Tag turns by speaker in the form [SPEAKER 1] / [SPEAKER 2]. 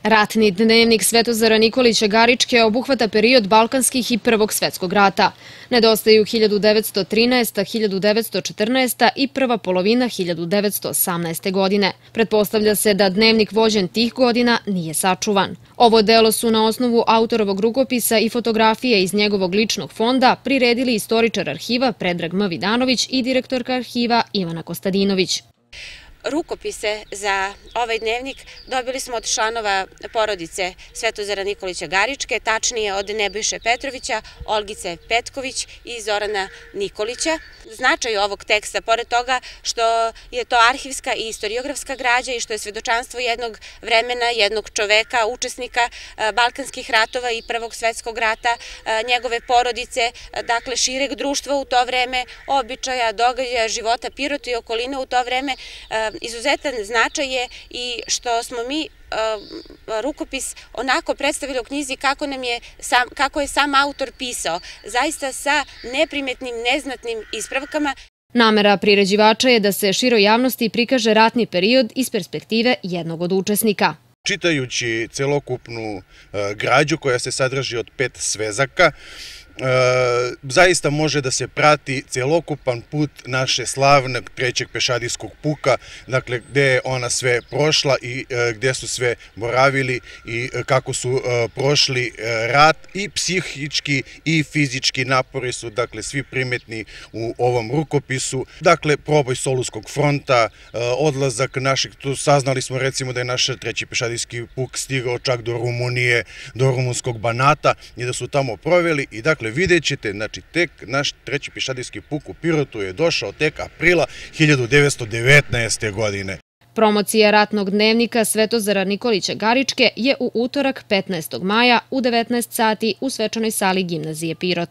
[SPEAKER 1] Ratni dnevnik Svetozara Nikolića Garičke obuhvata period Balkanskih i Prvog svetskog rata. Nedostaju 1913. 1914. i prva polovina 1918. godine. Pretpostavlja se da dnevnik vođen tih godina nije sačuvan. Ovo delo su na osnovu autorovog rukopisa i fotografije iz njegovog ličnog fonda priredili istoričar arhiva Predrag M. Vidanović i direktorka arhiva Ivana Kostadinović.
[SPEAKER 2] Rukopise za ovaj dnevnik dobili smo od članova porodice Svetozara Nikolića Garičke, tačnije od Nebojše Petrovića, Olgice Petković i Zorana Nikolića. Značaj ovog teksta, pored toga što je to arhivska i istoriografska građa i što je svedočanstvo jednog vremena, jednog čoveka, učesnika Balkanskih ratova i Prvog svetskog rata, njegove porodice, dakle šireg društva u to vreme, običaja, događaja, života Pirota i okoline u to vreme. Izuzetan značaj je i što smo mi rukopis onako predstavili u knjizi kako je sam autor pisao, zaista sa neprimetnim, neznatnim ispravkama.
[SPEAKER 1] Namera priređivača je da se široj javnosti prikaže ratni period iz perspektive jednog od učesnika.
[SPEAKER 3] Čitajući celokupnu građu koja se sadrži od 5 svezaka, zaista može da se prati celokupan put naše slavnog trećeg pešadijskog puka, dakle gde je ona sve prošla i gde su sve boravili i kako su prošli rat i psihički i fizički napori su dakle svi primetni u ovom rukopisu. Dakle, proboj Soluskog fronta, odlazak naših, tu saznali smo recimo da je naš treći pešadijski puk stigao čak do Rumunije, do rumunskog Banata i da su tamo proveli i dakle vidjet ćete, znači tek naš treći pešadijski puk u Pirotu je došao tek aprila 1919. godine.
[SPEAKER 1] Promocija ratnog dnevnika Svetozara Nikolića Garičke je u utorak 15. maja u 19 sati u svečanoj sali Gimnazije Pirot.